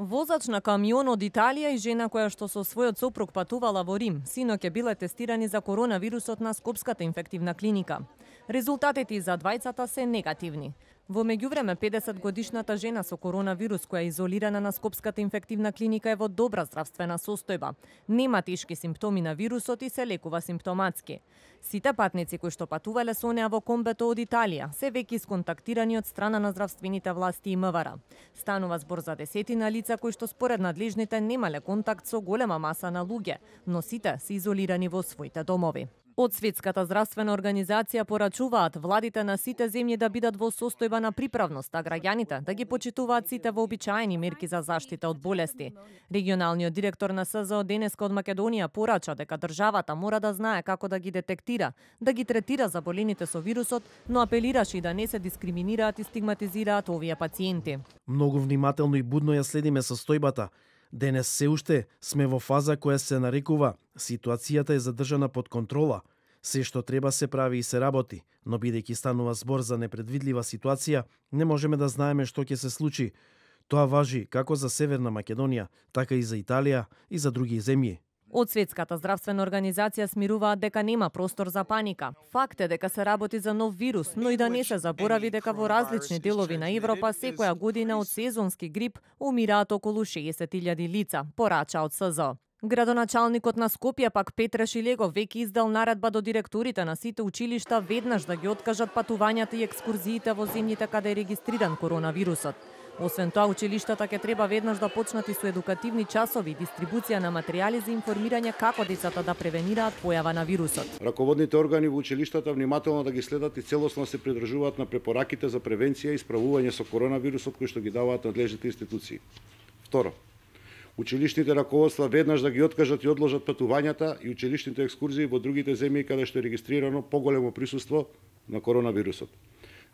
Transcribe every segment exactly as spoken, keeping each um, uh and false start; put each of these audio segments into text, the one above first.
Возач на камион од Италија и жена која што со својот сопруг патувала во Рим, синоќ биле тестирани за коронавирусот на Скопската инфективна клиника. Резултатите за двајцата се негативни. Во меѓувреме, педесетгодишната жена со коронавирус која е изолирана на Скопската инфективна клиника е во добра здравствена состојба. Нема тешки симптоми на вирусот и се лекува симптоматски. Сите патници кои што патувале со неа во комбето од Италија се веќе исконтактирани од страна на здравствените власти и МВР. Станува збор за десетина лица кои што според надлежните немале контакт со голема маса на луѓе, но сите се изолирани во своите домови. Од Светската здравствена организација порачуваат владите на сите земји да бидат во состојба на приправност, а граѓаните да ги почитуваат сите вообичаени мерки за заштита од болести. Регионалниот директор на С З О денеска од Македонија порача дека државата мора да знае како да ги детектира, да ги третира заболените со вирусот, но апелираше и да не се дискриминираат и стигматизираат овие пациенти. Многу внимателно и будно ја следиме состојбата. Денес се уште сме во фаза која се нарекува ситуацијата е задржана под контрола. Се што треба се прави и се работи, но бидејќи станува збор за непредвидлива ситуација, не можеме да знаеме што ќе се случи. Тоа важи како за Северна Македонија, така и за Италија и за други земји. Од Светската здравствена организација смируваат дека нема простор за паника. Факт е дека се работи за нов вирус, но и да не се заборави дека во различни делови на Европа секоја година од сезонски грип умираат околу шеесет илјади лица, порача од С З О. Градоначалникот на Скопје пак Петре Шилегов веќе издал наредба до директорите на сите училишта веднаш да ги откажат патувањата и екскурзиите во земјите каде е регистриран коронавирусот. Освен тоа, училиштата ќе треба веднаш да почнат и со едукативни часови и дистрибуција на материјали за информирање како децата да превенираат појава на вирусот. Раководните органи во училиштата внимателно да ги следат и целосно се придржуваат на препораките за превенција и справување со коронавирусот кои што ги даваат надлежните институции. Второ, училишните раководства веднаш да ги откажат и одложат патувањата и училишните екскурзии во другите земји каде што е регистрирано поголемо присуство на коронавирусот.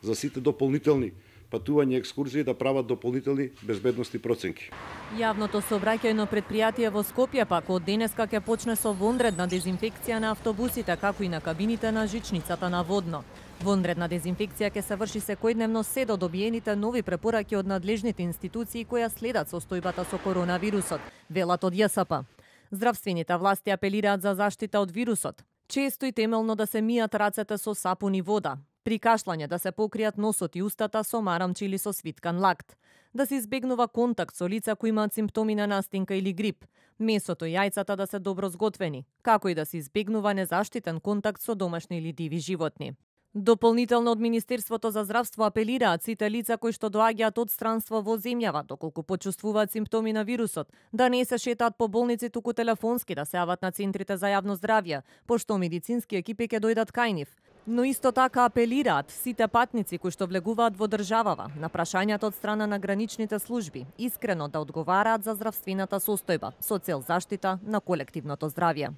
За сите дополнителни патување и екскурзии да прават дополнителни безбедности проценки. Јавното сообраќајно предпријатие во Скопје пак од денеска ќе почне со вонредна дезинфекција на автобусите, како и на кабините на жичницата на Водно. Вонредна дезинфекција ќе се врши секојдневно се до добиените нови препораки од надлежните институции која следат состојбата со коронавирусот, велат од Ја С П. Здравствените власти апелираат за заштита од вирусот. Често и темелно да се мијат рацете со сапун и вода. При кашлање да се покријат носот и устата со марамче или со свиткан лакт. Да се избегнува контакт со лица кои имаат симптоми на настинка или грип. Месото и јајцата да се добро зготвени, како и да се избегнува незаштитен контакт со домашни или диви животни. Дополнително од Министерството за здравство апелираат сите лица кои што доаѓаат од странство во земјава, доколку почувствуваат симптоми на вирусот, да не се шетаат по болници, туку телефонски да се јават на центрите за јавно здравје, пошто медицински екипи ќе дојдат кај нив. Но исто така апелираат сите патници кои што влегуваат во државава на прашањата од страна на граничните служби искрено да одговараат за здравствената состојба со цел заштита на колективното здравје.